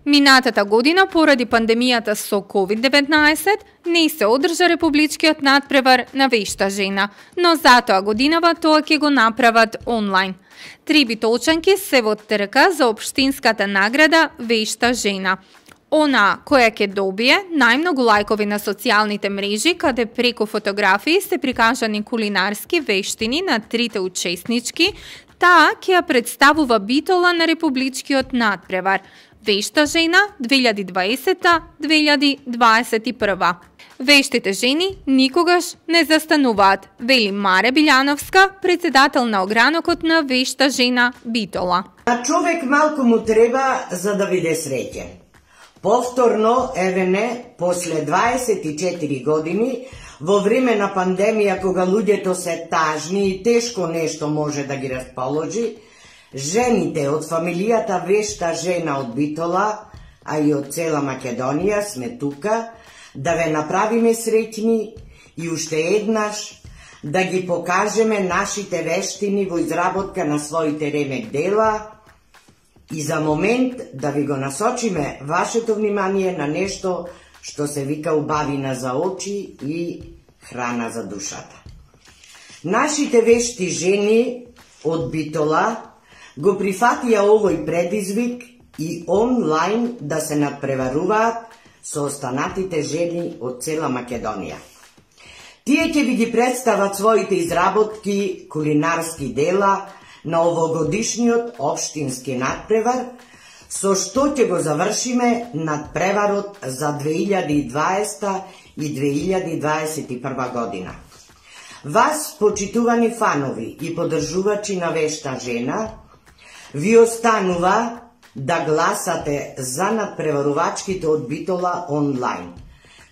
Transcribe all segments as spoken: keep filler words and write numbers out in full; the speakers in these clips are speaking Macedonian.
Минатата година, поради пандемијата со ковид деветнаесет, не се одржа републичкиот надпревар на вешта жена, но затоа годинава тоа ќе го направат онлайн. Три битолчанки се во трка за општинската награда Вешта жена. Она која ќе добие најмногу лајкови на социјалните мрежи, каде преку фотографии се прикажани кулинарски вештини на трите учеснички, таа ќе ја представува битола на републичкиот надпревар Вешта жена две илјади и дваесета - две илјади дваесет и прва. Вештите жени никогаш не застануваат, вели Маре Билјановска, председател на огранокот на Вешта жена битола. На човек малку му треба за да биде среќен. Повторно, еве не, после дваесет и четири години, во време на пандемија, кога луѓето се тажни и тешко нешто може да ги расположи, жените од фамилијата Вешта жена од Битола, а и од цела Македонија, сме тука да ве направиме среќни и уште еднаш да ги покажеме нашите вештини во изработка на своите ремек дела и за момент да ви го насочиме вашето внимание на нешто што се вика убавина за очи и храна за душата. Нашите вешти жени од Битола го прифатија овој предизвик и онлайн да се надпреваруваат со останатите жени од цела Македонија. Тие ќе ви ги представат своите изработки, кулинарски дела на овогодишниот општински надпревар, со што ќе го завршиме надпреварот за две илјади и дваесета и две илјади дваесет и прва година. Вас, почитувани фанови и поддржувачи на Вешта жена, ви останува да гласате за надпреварувачките од Битола онлайн.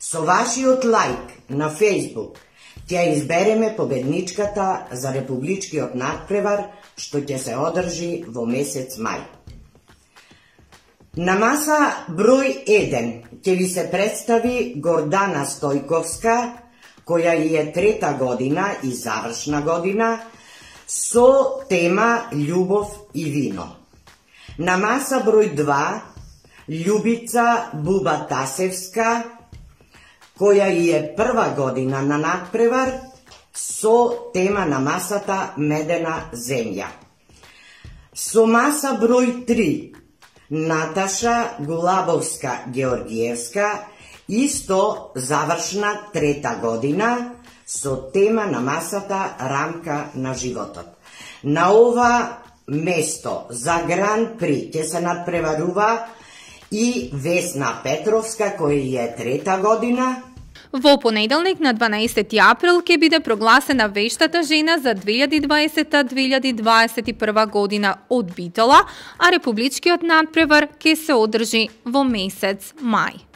Со вашиот лајк на Facebook ќе избереме победничката за републичкиот надпревар што ќе се одржи во месец мај. На маса број еден ќе ви се представи Гордана Стојковска, која е трета година и завршна година, со тема Љубов и вино. На маса број два Љубица Буба Тасевска, која е прва година на надпревар, со тема на масата Медена земја. Со маса број три Наташа Гулабовска Георгиевска, исто завршна трета година, со тема на масата Рамка на животот. На ова место за Гран При ќе се надпреварува и Весна Петровска, која е трета година. Во понеделник на дванаесети април ќе биде прогласена Вештата жена за две илјади и дваесета - две илјади дваесет и прва година од Битола, а републичкиот надпревар ќе се одржи во месец мај.